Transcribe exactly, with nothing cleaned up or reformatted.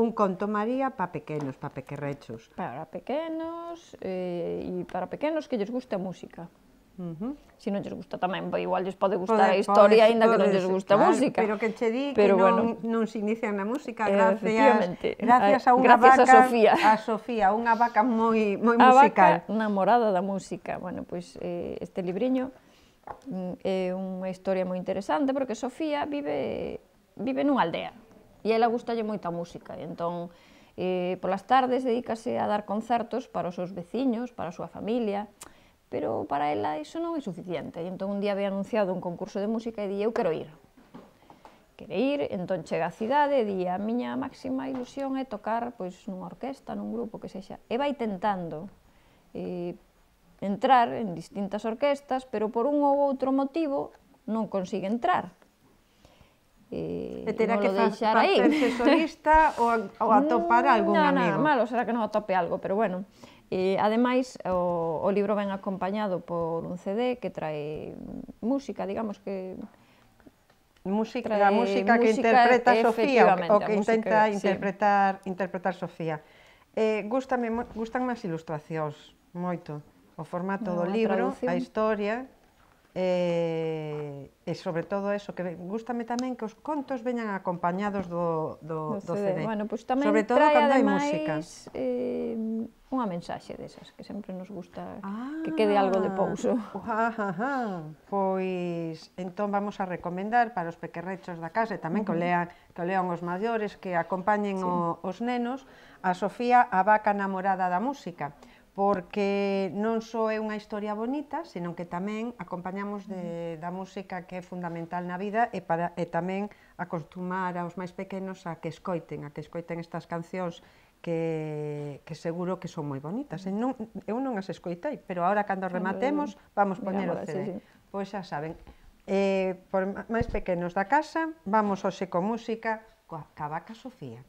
Un conto, María, para pequenos, para pequerrechos. Para pequenos, e para pequenos que lles gusta a música. Se non lles gusta tamén, igual lles pode gustar a historia, aínda que non lles gusta a música. Pero que che di que non se inician na música gracias a unha vaca, a Sofía, unha vaca moi musical. A vaca namorada da música. Bueno, pois este libriño é unha historia moi interesante porque Sofía vive nunha aldea e ela gustalle moita música. Entón, polas tardes dedícase a dar concertos para os seus veciños, para a súa familia, pero para ela iso non é suficiente. Entón, un día ve anunciado un concurso de música e di, eu quero ir. Quere ir, entón chega á cidade e di, a miña máxima ilusión é tocar nunha orquesta, nun grupo, que sexa. E vai tentando entrar en distintas orquestas, pero por un ou outro motivo non consigue entrar. E terá que facerse solista ou atopar algún amigo? Non, malo será que non atope algo, pero bueno. Ademais, o libro ven acompañado por un ce de que trae música, digamos que... A música que interpreta Sofía, o que intenta interpretar Sofía. Gústanme as ilustracións, moito. O formato do libro, a historia, e sobre todo eso, que gústame tamén que os contos veñan acompañados do ce de. Sobre todo cando hai música. Unha mensaxe desas, que sempre nos gusta que quede algo de pouso. Pois, entón vamos a recomendar para os pequerrechos da casa e tamén que o lean os maiores, que acompañen os nenos, a Sofía, a vaca namorada da música, porque non só é unha historia bonita, senón que tamén acompañamos da música que é fundamental na vida e tamén acostumar aos máis pequenos a que escoiten, a que escoiten estas cancións que seguro que son moi bonitas. Eu non as escoitei, pero agora cando rematemos vamos poñer o ce de. Pois xa saben, por máis pequenos da casa, vamos hoxe con música coa vaca Sofía.